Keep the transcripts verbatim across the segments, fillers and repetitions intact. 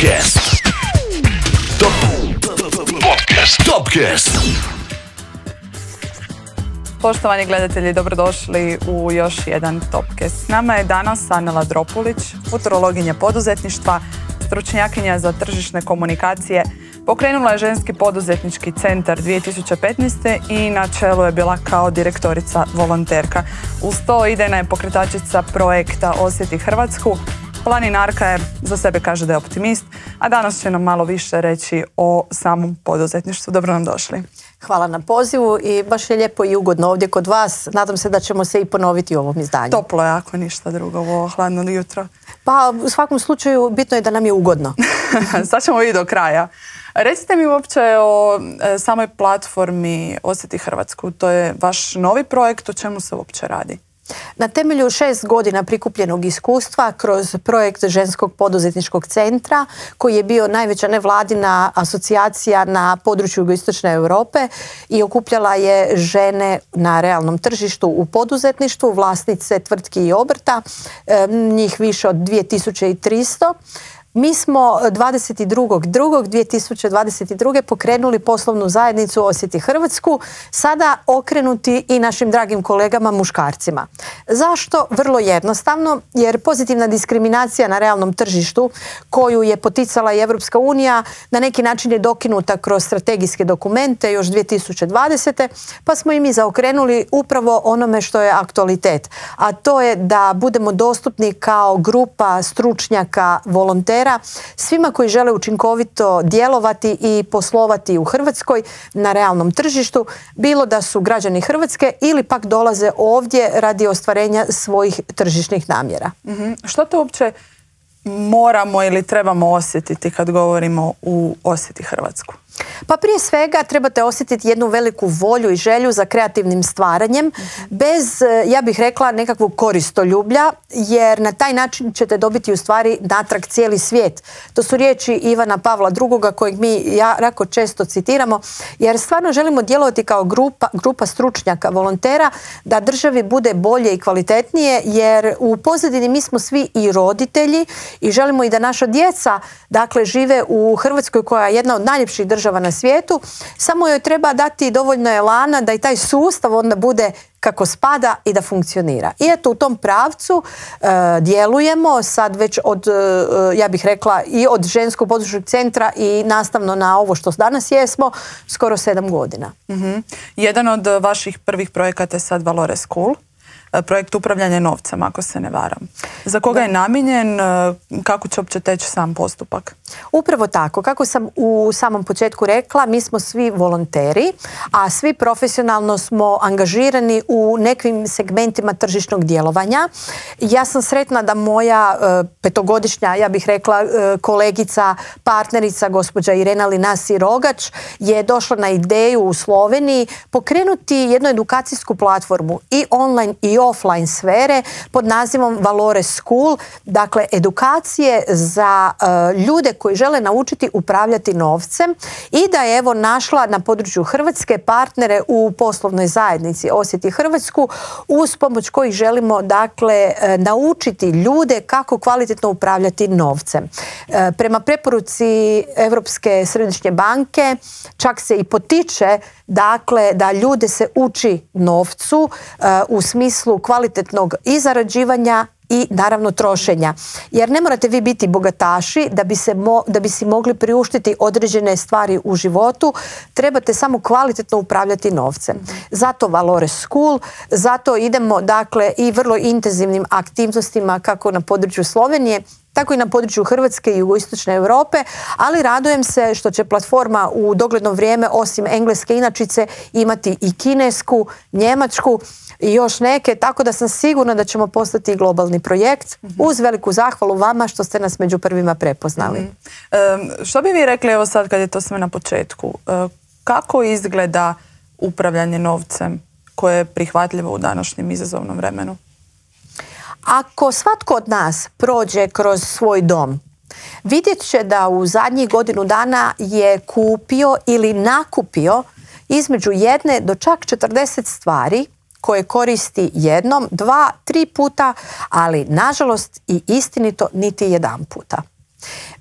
Topcast. Top Podcast. Topcast. Poštovani gledatelji, dobrodošli u još jedan Topcast. S nama je danas Anela Dropulić, futurologinja poduzetništva, stručnjakinja za tržišne komunikacije. Pokrenula je Ženski poduzetnički centar dvije tisuće petnaeste. i na čelu je bila kao direktorica volonterka. Uz to idejna je pokretačica projekta Osjeti Hrvatsku. Planinarka je, za sebe kaže da je optimist, a danas će nam malo više reći o samom poduzetništvu. Dobro nam došli. Hvala na pozivu i baš je lijepo i ugodno ovdje kod vas. Nadam se da ćemo se i ponoviti u ovom izdanju. Toplo je, ako ništa drugo, u ovo hladno jutro. Pa u svakom slučaju bitno je da nam je ugodno. Sad ćemo i do kraja. Recite mi uopće o e, samoj platformi Osjeti Hrvatsku. To je vaš novi projekt, o čemu se uopće radi? Na temelju šest godina prikupljenog iskustva kroz projekt Ženskog poduzetničkog centra, koji je bio najveća nevladina asocijacija na području jugoistočne Europe i okupljala je žene na realnom tržištu u poduzetništvu, vlasnice tvrtki i obrta, njih više od dvije tisuće tristo. Mi smo dvadeset drugog drugog dvije tisuće dvadeset druge pokrenuli poslovnu zajednicu Osjeti Hrvatsku, sada okrenuti i našim dragim kolegama muškarcima. Zašto? Vrlo jednostavno, jer pozitivna diskriminacija na realnom tržištu koju je poticala i Europska unija na neki način je dokinuta kroz strategijske dokumente još dvije tisuće dvadesete. pa smo i mi zaokrenuli upravo onome što je aktualitet, a to je da budemo dostupni kao grupa stručnjaka, volontera, svima koji žele učinkovito djelovati i poslovati u Hrvatskoj na realnom tržištu, bilo da su građani Hrvatske ili pak dolaze ovdje radi ostvarenja svojih tržišnih namjera. Mm-hmm. Što to uopće moramo ili trebamo osjetiti kad govorimo u Osjeti Hrvatsku? Pa prije svega trebate osjetiti jednu veliku volju i želju za kreativnim stvaranjem, mm-hmm. bez, ja bih rekla, nekakvog koristoljublja, jer na taj način ćete dobiti u stvari natrag cijeli svijet. To su riječi Ivana Pavla drugoga kojeg mi jako često citiramo, jer stvarno želimo djelovati kao grupa, grupa stručnjaka, volontera, da državi bude bolje i kvalitetnije, jer u pozadini mi smo svi i roditelji i želimo i da naša djeca, dakle, žive u Hrvatskoj koja je jedna od najljepših država na svijetu, samo joj treba dati dovoljno elana da i taj sustav onda bude kako spada i da funkcionira. I eto, u tom pravcu e, djelujemo sad već od, e, ja bih rekla, i od Ženskog poduzetničkog centra i nastavno na ovo što danas jesmo, skoro sedam godina. Mm-hmm. Jedan od vaših prvih projekata je sad Valore School, projekt upravljanja novcem, ako se ne varam. Za koga je namijenjen, kako će uopće teći sam postupak? Upravo tako. Kako sam u samom početku rekla, mi smo svi volonteri, a svi profesionalno smo angažirani u nekim segmentima tržišnog djelovanja. Ja sam sretna da moja uh, petogodišnja, ja bih rekla, uh, kolegica, partnerica, gospođa Irena Linasi Rogač, je došla na ideju u Sloveniji pokrenuti jednu edukacijsku platformu i online i offline sfere pod nazivom Valore School, dakle edukacije za uh, ljude koji žele naučiti upravljati novcem i da je evo našla na području Hrvatske partnere u poslovnoj zajednici Osjeti Hrvatsku, uz pomoć kojih želimo, dakle, uh, naučiti ljude kako kvalitetno upravljati novcem. Uh, prema preporuci Europske središnje banke čak se i potiče, dakle, da ljude se uči novcu uh, u smislu kvalitetnog i zarađivanja i naravno trošenja. Jer ne morate vi biti bogataši da bi, se mo, da bi si mogli priuštiti određene stvari u životu. Trebate samo kvalitetno upravljati novcem. Zato Valore School, zato idemo, dakle, i vrlo intenzivnim aktivnostima kako na području Slovenije, tako i na području Hrvatske i jugoistočne Europe, ali radujem se što će platforma u dogledno vrijeme osim engleske inačice imati i kinesku, njemačku i još neke, tako da sam sigurna da ćemo postati globalni projekt, mm-hmm. uz veliku zahvalu vama što ste nas među prvima prepoznali. Mm-hmm. E, što bi vi rekli, evo sad kad je to sve na početku, e, kako izgleda upravljanje novcem koje je prihvatljivo u današnjem izazovnom vremenu? Ako svatko od nas prođe kroz svoj dom, vidjet će da u zadnjih godinu dana je kupio ili nakupio između jedne do čak četrdeset stvari koje koristi jednom, dva, tri puta, ali nažalost i istinito niti jedan puta.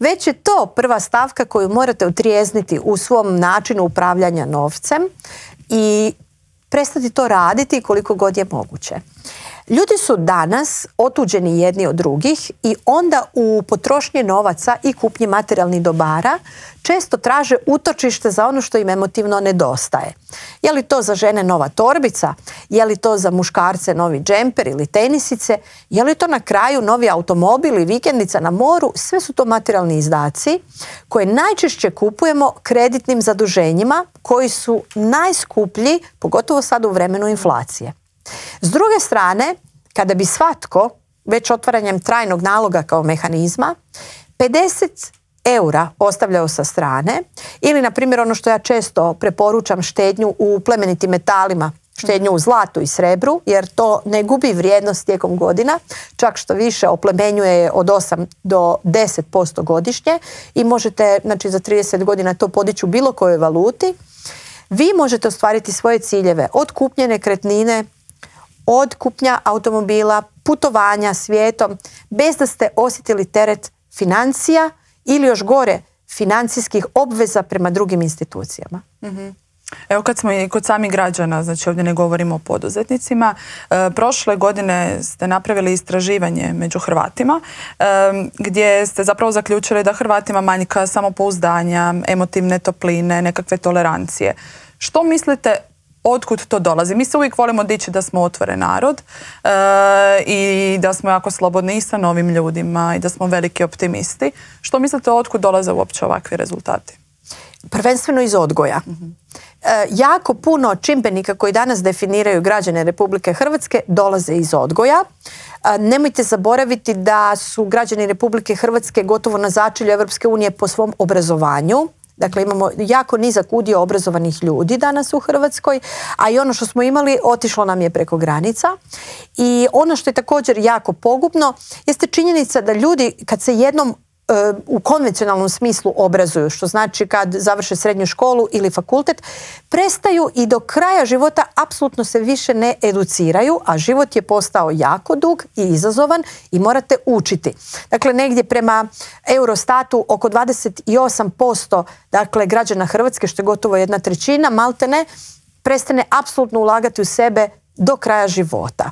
Već je to prva stavka koju morate otrijezniti u svom načinu upravljanja novcem i prestati to raditi koliko god je moguće. Ljudi su danas otuđeni jedni od drugih i onda u potrošnji novaca i kupnji materijalnih dobara često traže utočište za ono što im emotivno nedostaje. Je li to za žene nova torbica? Je li to za muškarce novi džemper ili tenisice? Je li to na kraju novi automobil i vikendica na moru? Sve su to materijalni izdaci koje najčešće kupujemo kreditnim zaduženjima koji su najskuplji, pogotovo sad u vremenu inflacije. S druge strane, kada bi svatko, već otvaranjem trajnog naloga kao mehanizma, pedeset eura ostavljao sa strane, ili na primjer ono što ja često preporučam, štednju u plemenitim metalima, štednju u zlatu i srebru, jer to ne gubi vrijednost tijekom godina, čak što više oplemenjuje je od osam do deset posto godišnje i možete, znači, za trideset godina to podići u bilo kojoj valuti. Vi možete ostvariti svoje ciljeve od kupnje nekretnine, od kupnja automobila, putovanja svijetom, bez da ste osjetili teret financija ili još gore financijskih obveza prema drugim institucijama. Mm-hmm. Evo, kad smo i kod samih građana, znači ovdje ne govorimo o poduzetnicima, e, prošle godine ste napravili istraživanje među Hrvatima e, gdje ste zapravo zaključili da Hrvatima manjka samopouzdanja, emotivne topline, nekakve tolerancije. Što mislite, otkud to dolazi? Mi se uvijek volimo dići da smo otvoren narod e, i da smo jako slobodni i sa novim ljudima i da smo veliki optimisti. Što mislite, otkud dolaze uopće ovakvi rezultati? Prvenstveno iz odgoja. Mm-hmm. E, jako puno čimbenika koji danas definiraju građane Republike Hrvatske dolaze iz odgoja. E, nemojte zaboraviti da su građani Republike Hrvatske gotovo na začelju Europske unije po svom obrazovanju. Dakle, imamo jako nizak udio obrazovanih ljudi danas u Hrvatskoj, a i ono što smo imali otišlo nam je preko granica. I ono što je također jako pogubno jeste činjenica da ljudi kad se jednom u konvencionalnom smislu obrazuju, što znači kad završe srednju školu ili fakultet, prestaju i do kraja života apsolutno se više ne educiraju, a život je postao jako dug i izazovan i morate učiti. Dakle, negdje prema Eurostatu oko dvadeset osam posto dakle, građana Hrvatske, što je gotovo jedna trećina, maltene, prestane apsolutno ulagati u sebe do kraja života.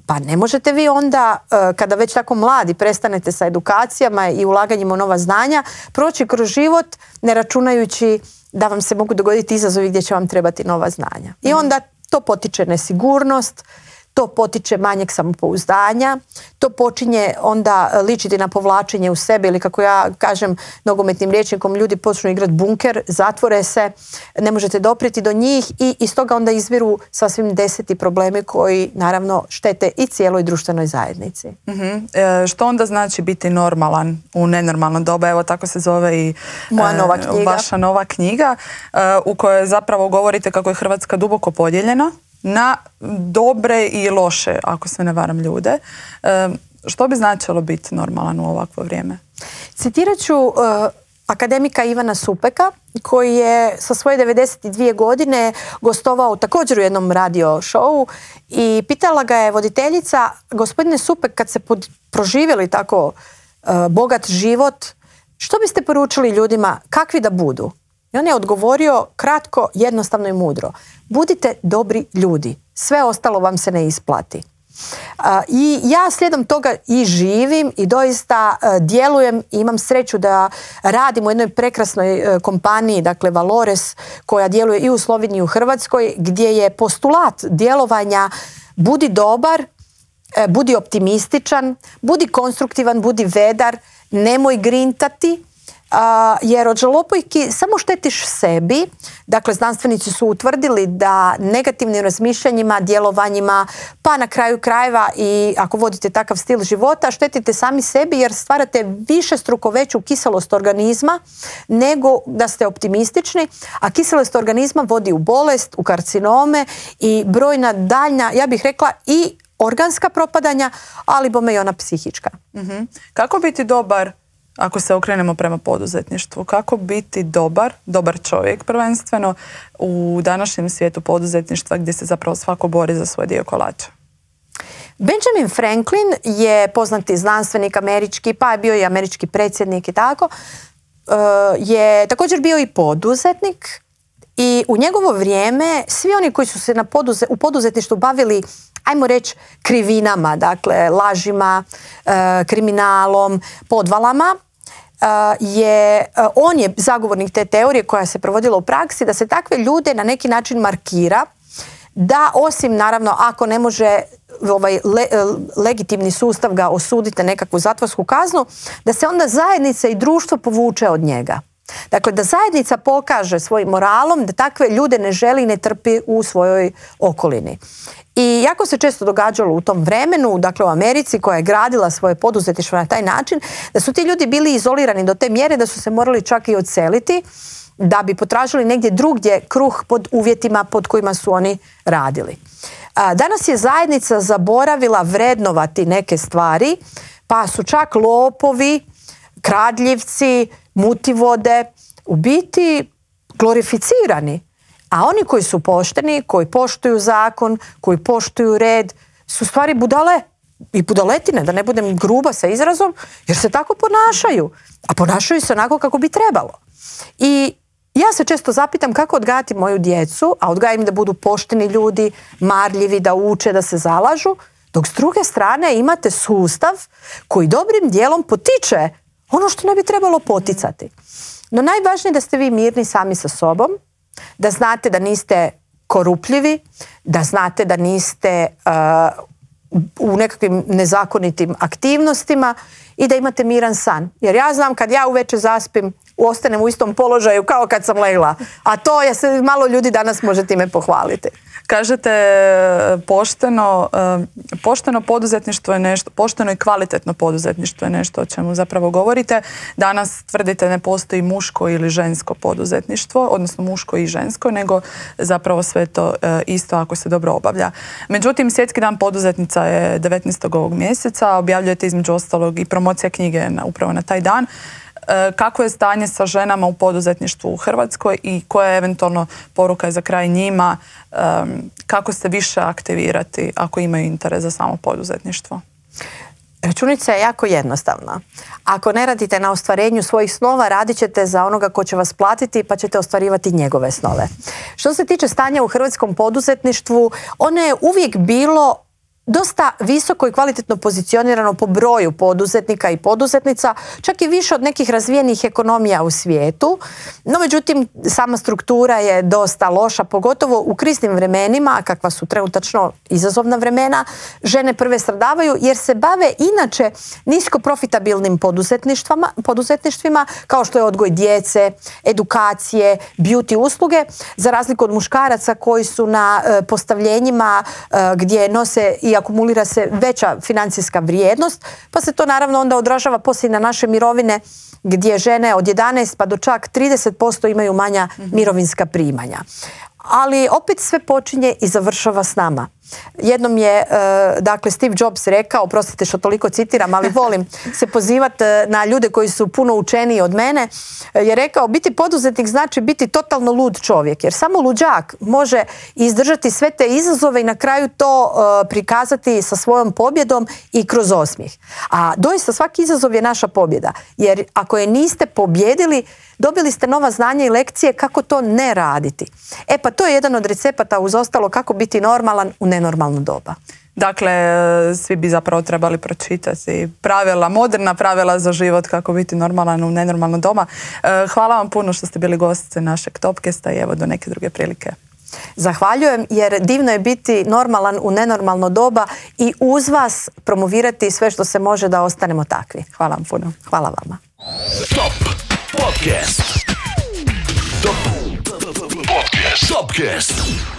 Pa ne možete vi onda, kada već tako mladi prestanete sa edukacijama i ulaganjima u nova znanja, proći kroz život ne računajući da vam se mogu dogoditi izazovi gdje će vam trebati nova znanja. I onda to potiče nesigurnost, to potiče manjeg samopouzdanja, to počinje onda ličiti na povlačenje u sebe ili, kako ja kažem nogometnim rječnikom, ljudi počnu igrati bunker, zatvore se, ne možete doprijeti do njih i iz toga onda izviru sasvim deseti problemi koji naravno štete i cijeloj društvenoj zajednici. Mm-hmm. E, što onda znači biti normalan u nenormalno doba? Evo, tako se zove i Moja nova knjiga. vaša nova knjiga e, u kojoj zapravo govorite kako je Hrvatska duboko podijeljena na dobre i loše, ako se ne varam, ljude. E, što bi značilo biti normalan u ovakvo vrijeme? Citirat ću uh, akademika Ivana Supeka, koji je sa svoje devedeset dvije godine gostovao također u jednom radio showu i pitala ga je voditeljica: gospodine Supek, kad se pod, proživjeli tako uh, bogat život, što biste poručili ljudima kakvi da budu? I on je odgovorio kratko, jednostavno i mudro: budite dobri ljudi, sve ostalo vam se ne isplati. Uh, I ja slijedom toga i živim i doista uh, djelujem i imam sreću da radim u jednoj prekrasnoj uh, kompaniji, dakle Valores, koja djeluje i u Sloveniji i u Hrvatskoj, gdje je postulat djelovanja budi dobar, uh, budi optimističan, budi konstruktivan, budi vedar, nemoj grintati. Uh, jer od žalopojki samo štetiš sebi. Dakle, znanstvenici su utvrdili da negativnim razmišljanjima, djelovanjima, pa na kraju krajeva i ako vodite takav stil života, štetite sami sebi jer stvarate više struko veću kiselost organizma nego da ste optimistični, a kiselost organizma vodi u bolest, u karcinome i brojna daljna, ja bih rekla, i organska propadanja, ali bome i ona psihička. Mm-hmm. Kako biti dobar, ako se okrenemo prema poduzetništvu, kako biti dobar, dobar čovjek prvenstveno u današnjem svijetu poduzetništva gdje se zapravo svako bori za svoj dio kolača? Benjamin Franklin je poznati znanstvenik američki, pa je bio i američki predsjednik i tako, je također bio i poduzetnik i u njegovo vrijeme svi oni koji su se na poduze, u poduzetništvu bavili, ajmo reći, krivinama, dakle lažima, kriminalom, podvalama, je, on je zagovornik te teorije koja se provodila u praksi, da se takve ljude na neki način markira, da osim naravno ako ne može ovaj le, legitimni sustav ga osuditi na nekakvu zatvorsku kaznu, da se onda zajednica i društvo povuče od njega. Dakle, da zajednica pokaže svojim moralom da takve ljude ne želi i ne trpi u svojoj okolini. I jako se često događalo u tom vremenu, dakle u Americi koja je gradila svoje poduzetništvo na taj način, da su ti ljudi bili izolirani do te mjere da su se morali čak i odseliti da bi potražili negdje drugdje kruh pod uvjetima pod kojima su oni radili. Danas je zajednica zaboravila vrednovati neke stvari, pa su čak lopovi, kradljivci, mutivode u biti glorificirani. A oni koji su pošteni, koji poštuju zakon, koji poštuju red, su stvari budale i budaletine, da ne budem gruba sa izrazom, jer se tako ponašaju. A ponašaju se onako kako bi trebalo. I ja se često zapitam kako odgajati moju djecu, a odgajam da budu pošteni ljudi, marljivi, da uče, da se zalažu, dok s druge strane imate sustav koji dobrim dijelom potiče ono što ne bi trebalo poticati. No najvažnije je da ste vi mirni sami sa sobom, da znate da niste korupljivi, da znate da niste uh, u nekakvim nezakonitim aktivnostima i da imate miran san. Jer ja znam kad ja uveče zaspim, ostanem u istom položaju kao kad sam legla. A to je se malo ljudi danas može time pohvaliti. Kažete pošteno, pošteno poduzetništvo je nešto, pošteno i kvalitetno poduzetništvo je nešto o čemu zapravo govorite. Danas tvrdite ne postoji muško ili žensko poduzetništvo, odnosno muško i žensko, nego zapravo sve to isto ako se dobro obavlja. Međutim, Svjetski dan poduzetnica je devetnaestog ovog mjeseca, objavljujete između ostalog i promocija knjige na, upravo na taj dan. Kako je stanje sa ženama u poduzetništvu u Hrvatskoj i koja je eventualno poruka za kraj njima, kako se više aktivirati ako imaju interes za samo poduzetništvo? Računica je jako jednostavna. Ako ne radite na ostvarenju svojih snova, radit ćete za onoga ko će vas platiti pa ćete ostvarivati njegove snove. Što se tiče stanja u hrvatskom poduzetništvu, ono je uvijek bilo dosta visoko i kvalitetno pozicionirano po broju poduzetnika i poduzetnica, čak i više od nekih razvijenih ekonomija u svijetu. No, međutim, sama struktura je dosta loša, pogotovo u kriznim vremenima, kakva su trenutačno izazovna vremena. Žene prve stradavaju jer se bave inače nisko profitabilnim poduzetništvima, kao što je odgoj djece, edukacije, beauty usluge, za razliku od muškaraca koji su na postavljenjima gdje nose i akumulira se veća financijska vrijednost, pa se to naravno onda odražava poslije na naše mirovine gdje žene od jedanaest pa do čak trideset posto imaju manja mirovinska primanja. Ali opet sve počinje i završava s nama. Jednom je, dakle, Steve Jobs rekao, oprostite što toliko citiram, ali volim se pozivati na ljude koji su puno učeniji od mene, je rekao, biti poduzetnik znači biti totalno lud čovjek, jer samo luđak može izdržati sve te izazove i na kraju to prikazati sa svojom pobjedom i kroz osmijeh. A doista svaki izazov je naša pobjeda, jer ako je niste pobjedili, dobili ste nova znanja i lekcije kako to ne raditi. E pa to je jedan od recepata uz ostalo kako biti normalan u nenormalno doba. Dakle, svi bi zapravo trebali pročitati pravila, moderna pravila za život kako biti normalan u nenormalno doba. Hvala vam puno što ste bili gostice našeg Topcasta i evo do neke druge prilike. Zahvaljujem, jer divno je biti normalan u nenormalno doba i uz vas promovirati sve što se može da ostanemo takvi. Hvala vam puno. Hvala vama. Top Podcast. Top Podcast. Topcast.